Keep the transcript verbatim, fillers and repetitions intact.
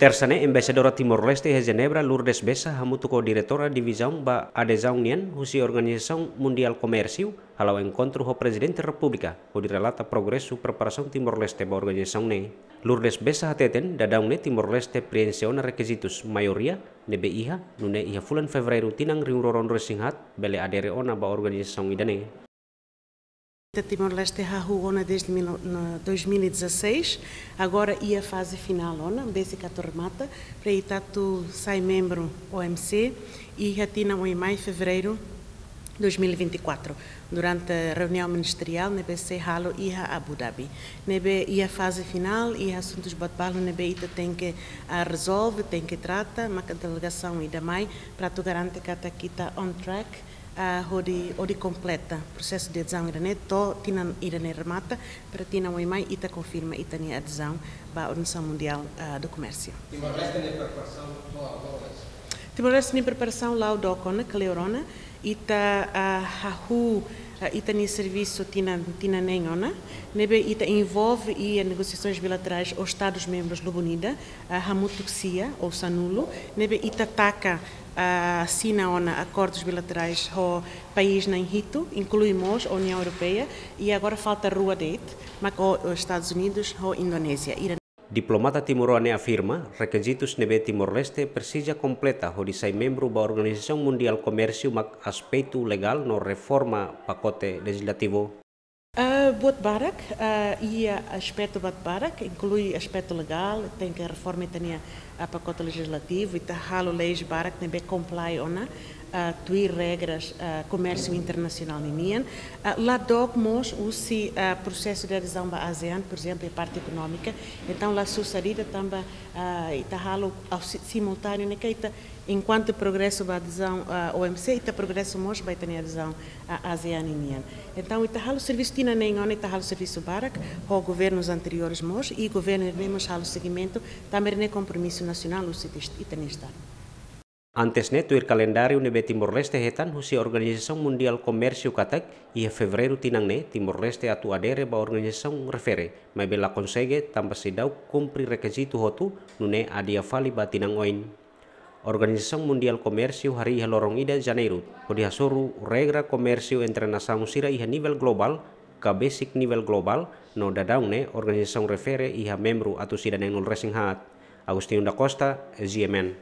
Tersa ne'e, Embaixadora Timor-Leste iha Jenebra, Lourdes Bessa, hamutuk ho Diretora Divizaun ba Adezaun nian husi Organizasaun Mundiál Komérsiu, hala'o enkontru ho Prezidente Repúblika, hodi relata progresu preparasaun Timor-Leste ba organizasaun ne'e. Lourdes Bessa hateten, daudaun ne'e Timor-Leste prienxe ona rekizitus maioria ne'ebé iha, nune'e iha fulan Fevereiru tinan rihun rua ruanulu-resin-haat, bele adere ona ba organizasaun ida-ne'e. Ita Timor-Leste hahú ona desde mil, no, dois mil e dezasseis, agora iha faze finál ona, besik atu remata, para ita atu sai membru O M C, iha tinan oin mai, Fevereiru dois mil e vinte e quatro, durante reuniaun ministeriál ne'ebé sei halo iha Abu Dhabi. Ne'ebé iha faze finál, iha asuntus boot balu ne'ebé ita tenke, ah, rezolve, tenke trata, maka delegasaun ida mai, para atu garante katak ita on track, ah, hodi, hodi kompleta prosesu de adezaun ida-ne'e, to'o tinan ida-ne'e remata, para tinan oin mai ita konfirma ita-nia adezaun ba Organizasaun Mundiál, ah, do Komérsiu. Timor-Leste nia preparasaun to'o agora? Timor-Leste nia preparasaun la'o dook ona, kleur ona, ita, ah, hahú, ah, ita-nia servisu tinan, tinan neen ona, ne'ebé ita envolve iha negosiasoens bilaterais ho Estadus membrus lubun ida, ah, hamutuk sia ou sanulu, ne'ebé ita taka, ah, asina ona akordus bilaterais ho país na'in hitu, inklui mós Uniaun Europeia, i agora falta rua de'it, mak ho, ho Estadus Unidus ho Indonézia. Ida Diplomata timoroan ne'e afirma, rekizitus ne'ebé Timor-Leste presiza kompleta hodi sai membru ba Organizasaun Mundiál Komérsiu mak aspetu legál no reforma pakote lejizlativu. Ah, buat barak, ah, iha aspetu buat barak, inklui aspetu legál, tenke reforma ita-nia, ah, pakote lejizlativu, ita halo leis barak ne'ebé comply ona, ah, tuir regras, ah, komérsiu internasionál ninian. Ah, la dook mós husi, ah, prosesu de adezaun ba ASEAN, por ezemplu, iha parte ekonómika. Entaun, la susar ida tanba, ah, ita halo ao si-, simultáneo, ne'e ke ita, enkuantu progresu ba adezaun, ah, O M C, ita progresu mós ba ita-nia adezaun, ah, ASEAN ninian. Entaun, ita halo servisu tinan neen ona, ita halo servisu barak ho governus anteriores mós, i governu ne'e mós halo segimentu, tanba ne'e kompromisu nasionál husi ita-nia Estadu. Antes ne'e, tuir kalendáriu ne'ebé Timor-Leste hetan husi Organizasaun Mundiál Komérsiu katak, iha Fevereiru tinan ne'e, Timor-Leste atu adere ba organizasaun refere, maibé la konsege tanba seidauk kumpre rekizitu hotu, nune'e adia fali ba tinan oin. Organizasaun Mundiál Komérsiu harii iha loron ida Janeiru, hodi hasoru regra komérsiu entre nasaun sira iha nivel globál, ka besik nivel globál, no daudaun ne'e organizasaun refere iha membru atus ida neenulu-resin-haat. Agostinho da Costa, G M N.